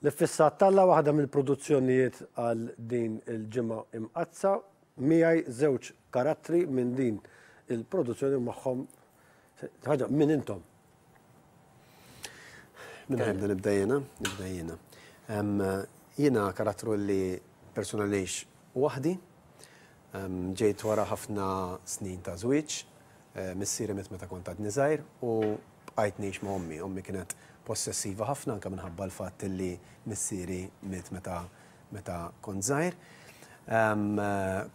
L-Iffissat t'Alla waħda mill-produzzjonijiet għal din il-Ġimgħa Imqaddsa. Miegħi żewġ karattri minn din il-produzzjoni u magħhom ħaġa min intom? Min ħa jibda nibda jiena, nibda jiena. Jiena karattru li persuna li ngħix waħdi. Ġejt wara ħafna snin ta' żwieġ, Missieri miet meta kont għadni żgħir u bqajt ngħix ma' ommi. Ommi kienet possessiva ħafna anke minħabba l-fatt li missieri miet meta meta kont żgħir.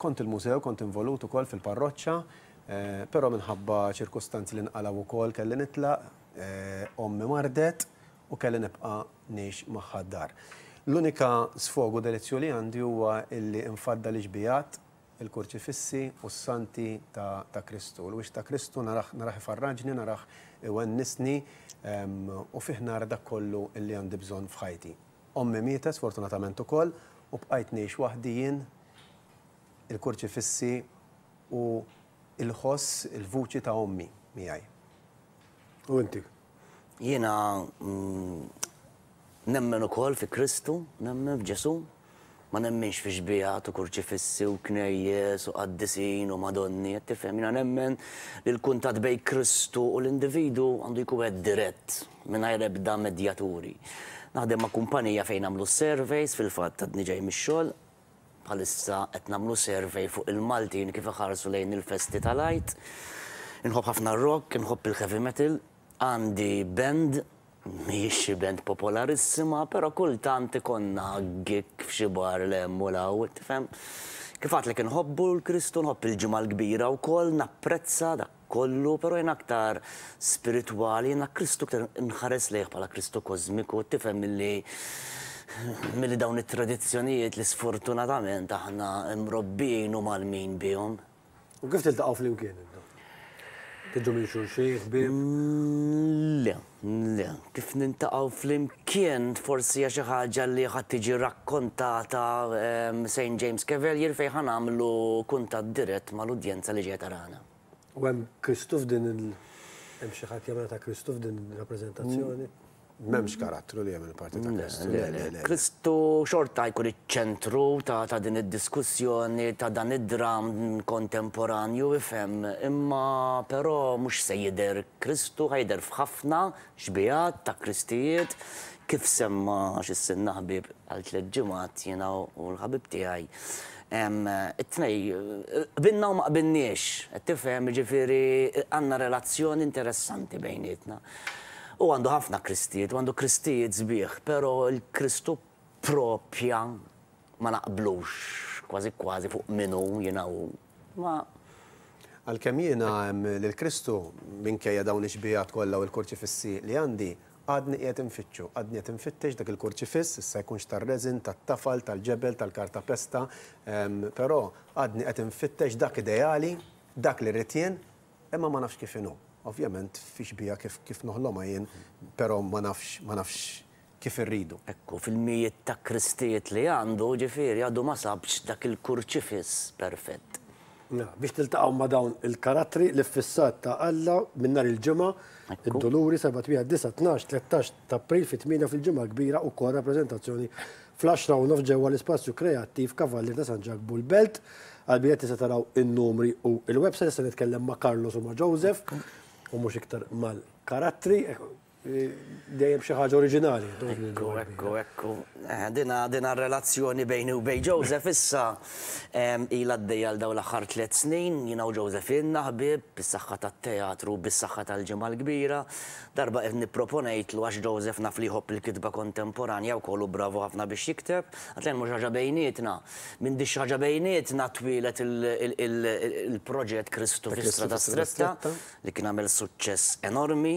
Kont il-mużew, kont involut ukoll fil-parroċċa, però minħabba ċirkustanzi li nqalgħu wkoll kelli nitlaq, ommi mardet u kelli nibqa' ngħix magħha d-dar. L-unika sfog u delizzju li għandi huwa illi nfaddal ix-xbigħat il-kurċifissi u s-santi ta' ta' Kristu. Il-wiċċ ta' Kristu narah narah ifarraġni, narah iwennisni u fih nara dak kollu li għandi bżonn f'ħajti. Ommi mietet sfortunatament ukoll u bqajt ngħix waħdi jien, il-kurċifissi u l-ħoss, il-vuċi ta' ommi miegħi. U inti? Jiena nemmen ukoll fi Kristu, nemmen f'Ġesù. Ma nemminx fi xbiehat u kurċifissi u knejjes u qaddisin u madonni, qed tifhem? Jiena nemmen li l-kuntatt bejn Kristu u l-individwu għandu jkun wieħed dirett, mingħajr ebda medjaturi. Naħdem ma' kumpanija fejn nagħmlu s-surveys, fil-fatt għadni ġej mix-xogħol, bħalissa qed nagħmlu survey fuq il-Maltin kif iħarsu lejn il-festi tal-Għid. Inħobb ħafna r-rock, inħobb il-heavy metal, għandi band Mhijiex xi band popolarissima, però kultant ikollna gig f'xi bar 'l hemm u 'l hawn, tifhem? Kif għedtlek inħobbu 'l Kristu, nħobb il-Ġimgħa l-Kbira wkoll, napprezza dak kollu, però jien aktar spiritwali, jiena Kristu aktar inħares lejh bħala Kristu kożmiku, tifhem milli milli dawn it-tradizzjonijiet li sfortunatament aħna mrobbijin u mgħallmin bihom. U kif tiltaqgħu flimkien intom? Tiġu minn xulxin, ħbieb? Le, le. Kif niltaqgħu flimkien forsi hija xi ħaġa li ħa tiġi rakkontata St. James Cavalier fejn ħa nagħmlu kuntatt dirett mal-udjenza li ġejja tarana. U hemm Kristu f'din il hemm xi ħadd jagħmilha ta' Kristu f'din ir-rappreżentazzjoni? M'hemmx karattru li jagħmel parti ta' Kristu. Le, le, le. Kristu xorta jkun iċ-ċentru ta' din id-diskussjoni, ta' dan id-dramm kontemporanju, ifhem, imma però mhux se jidher Kristu, ħa jidher f'ħafna xbihat ta' Kristijiet, kif semma x'issinna ħbieb għal tlett ġimgħat jiena u l-ħabib tiegħi. It-tnej qbilna u ma qbilniex, qed tifhem, jiġifieri għandna relazzjoni interessanti bejnietna. Hu għandu ħafna Kristijiet u għandu Kristijiet sbieħ, però l-Kristu propja ma naqblux kważi kważi fuq min hu jiena u hu. Ma. Għalkemm jiena lil Kristu, minkejja dawn ix-xbiehat kollha u l-kurċifissi li għandi, għadni qiegħed infittxu, għadni qed infittex dak il-kurċifiss, issa jkunx tar-resin, tat-tafal, tal-ġebel, tal-kartapesta, però għadni qed infittex dak ideali, dak li rrid jien, Imma ma nafx kif inhu. Ovvjament fi xbieha kif kif noħlomha jien, però ma nafx ma nafx kif irridu. Ekku, fil-mijiet ta' Kristijiet li għandu, ġifieri għadu ma sabx dak il-kurċifiss perfett. Mela, biex tiltaqgħu ma' dawn il-karattri, l-iffissat ta' Alla minn nhar il-Ġimgħa, id-Duluri, 7, 8, 9, 12, 13 t'April fit-tmienja fil-Ġimgħa l-Kbira ukoll rappreżentazzjoni Fl-għaxra u nofs ġewwa l-ispazju kreattiv Kavallier ta' San Ġakbu l-Belt. Għall-biljetti se taraw in-numri u l-website. Issa nitkellem ma' Carlos u ma' Joseph u mhux iktar mal-karattri. Dejjem xi ħaġa oriġinali. Ekku, ekku, ekku. Dina, dina r-relazzjoni bejni u bejn Joseph issa ilha għaddejja għal dawn l-aħħar tlett snin. Jiena u Joseph ilna ħbieb, bis-saħħa tat-teatru, bis-saħħa tal-Ġimgħa l-Kbira. Darba qed nipproponejtlu għax Joseph naf li jħobb il-kitba kontemporanja wkoll u bravu ħafna biex jikteb, għedt nagħmlu xi ħaġa bejnietna. Minn di xi ħaġa bejnietna twieled il-proġett Kristu fi Strada Stretta li kien għamel suċċess enormi.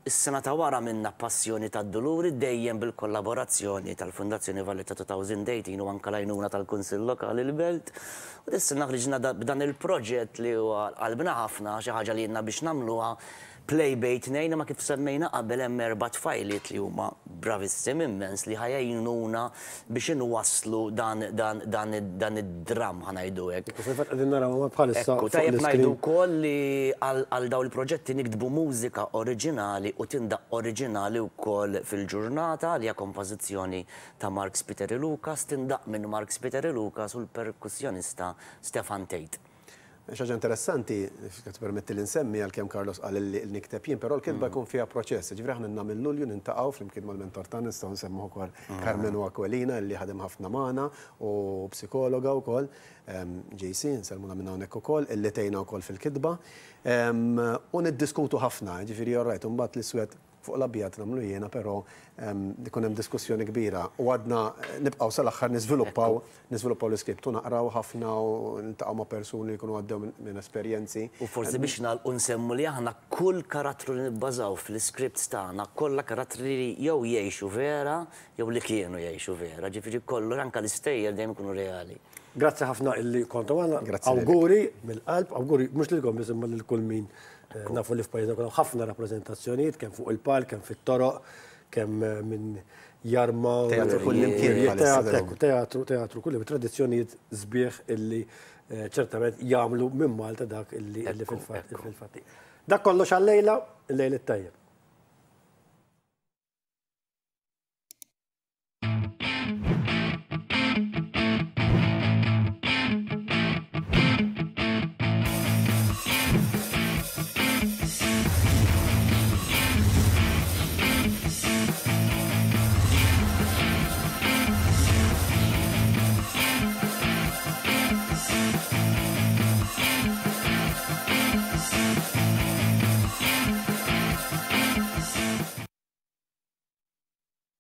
Is-sena ta' wara għamilna Passjoni tad-Duluri dejjem bil-kollaborazzjoni tal-Fundazzjoni Valletta 2018 u anke l-għajnuna tal-Kunsill Lokali l-Belt. U dis-sena ħriġna b'dan il-proġett li huwa għal qalbna ħafna, xi ħaġa li ilna biex nagħmluha. Play bejn tnejn imma kif semmejna qabel hemm erba' tfajliet li huma bravissimi immens li ħa jgħinuna biex inwasslu dan dan dan dan id-dramm ħa ngħidu hekk. Ekku, fil-fatt qegħdin narawhom bħalissa Ekku, fuq tajjeb ngħidu l-iskrin. wkoll li għal għal dawn il-proġetti niktbu mużika oriġinali u tindaqq oriġinali wkoll fil-ġurnata li hija kompożizzjoni ta' Mark Spiteri Lucas, tindaqq minn Mark Spiteri Lucas u l-perkussjonista Stefan Tate. Xi ħaġa interessanti, jekk tippermetti li nsemmi, għalkemm Carlos qal li nikteb jien, però l-kitba jkun fiha proċess. Jiġifieri aħna ilna minn Lulju nintaqgħu flimkien mal-mentor tagħna, nistgħu nsemmuh ukoll Karmenu Aquilina li ħadem ħafna magħna u psikologa wkoll, JC, nsellmulha minn hawnhekk ukoll, illi tgħinna wkoll fil-kitba. U niddiskutu ħafna, jiġifieri all right, imbagħad l-iswed fuq l-abjad nagħmlu jiena, però ikun hemm diskussjoni kbira u għadna nibqgħu sal-aħħar niżviluppaw niżviluppaw l-iskript u naqraw ħafna u niltaqgħu ma' persuni li jkunu għaddew minn esperjenzi. U forsi biex nagħlqu nsemmu li aħna kull karattru li nibbażaw fl-iskripts tagħna kollha karattri li jew jgħixu vera jew li kienu jgħixu vera, ġifieri kollu anke l-istejjer dejjem ikunu reali. Grazzi ħafna illi kontu magħna. Grazzi lilek. Awguri mill-qalb, awguri mhux lilkom biss imma lil kull min nafu li f'pajjiżna jkun hawn ħafna rappreżentazzjonijiet kemm fuq il-palk, kemm fit-toroq, kemm minn jarma. Teatru kull imkien bħalissa Teatru, teatru, teatru, kull tradizzjonijiet sbieħ illi ċertament jagħmlu minn Malta dak illi fil-fatt. Dak kollox għal-lejla, il-lejl it-tajjeb.